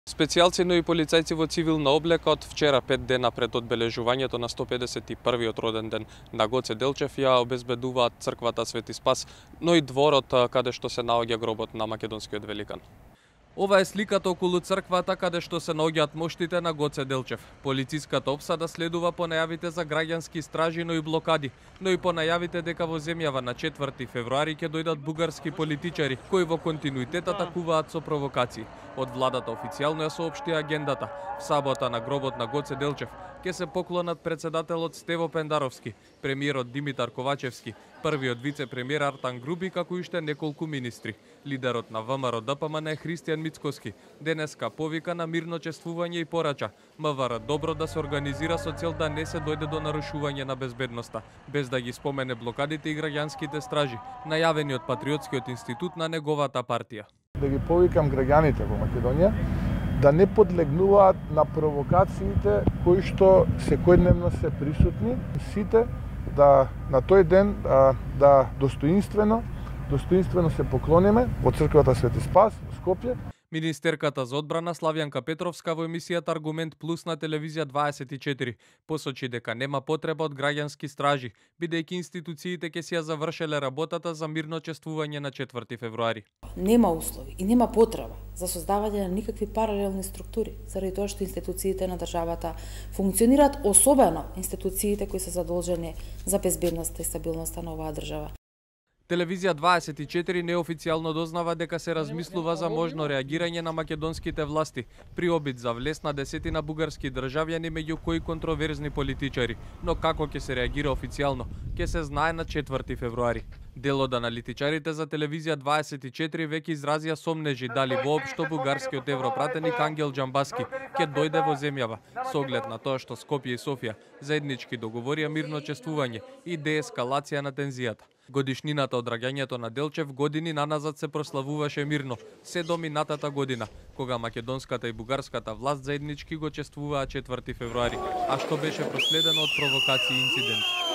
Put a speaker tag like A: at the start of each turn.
A: Специјалци, но и полицајци во цивилна облека од вчера 5 дена пред одбележувањето на 151-виот роден ден на Гоце Делчев ја обезбедуваат црквата Свети Спас, но и дворот каде што се наоѓа гробот на македонскиот великан. Ова е сликата околу црквата каде што се наоѓаат моштите на Гоце Делчев. Полициската опсада следува по најавите за граѓански стражи, но и блокади, но и по најавите дека во земјава на 4 февруари ќе дојдат бугарски политичари кои во континуитет атакуваат со провокации. Од владата официјално ја соопшти агендата. В сабота на гробот на Гоце Делчев ќе се поклонат председателот Стево Пендаровски, премиерот Димитар Ковачевски, првиот вице-премиер Артан Груби, како и уште неколку министри. Лидерот на ВМРО ДПМН е Христијан Мицкоски. Денеска повика на мирно чествување и порача МВР добро да се организира со цел да не се дојде до нарушување на безбедноста, без да ги спомене блокадите и граѓанските стражи, најавени од Патриотскиот институт на неговата партија.
B: Да ги повикам граѓаните во Македонија да не подлегнуваат на провокациите кои што секојдневно се присутни. Сите да на тој ден да достоинствено се поклониме во црквата Свети Спас во Скопје.
A: Министерката за одбрана Славјанка Петровска во емисијата Аргумент Плюс на телевизија 24 посочи дека нема потреба од граѓански стражи, бидејќи институциите ќе си ја завршеле работата за мирно чествување на 4 февруари.
C: Нема услови и нема потреба за создавање на никакви паралелни структури, заради тоа што институциите на државата функционираат, особено институциите кои се задолжени за безбедноста и стабилноста на оваа држава.
A: Телевизија 24 неофицијално дознава дека се размислува за можно реагирање на македонските власти при обид за влез на десетина бугарски државјани, меѓу кои контроверзни политичари, но како ќе се реагира официјално, ќе се знае на 4 февруари. Дел од аналитичарите за телевизија 24 веќе изразија сомнежи дали воопшто бугарскиот европратеник Ангел Џамбаски ќе дојде во земјава, со оглед на тоа што Скопје и Софија заеднички договорија мирно чествување и деескалација на тензијата. Годишнината од раѓањето на Делчев години наназад се прославуваше мирно, се до минатата година, кога македонската и бугарската власт заеднички го чествуваа 4 февруари, а што беше проследено од провокации и инциденти.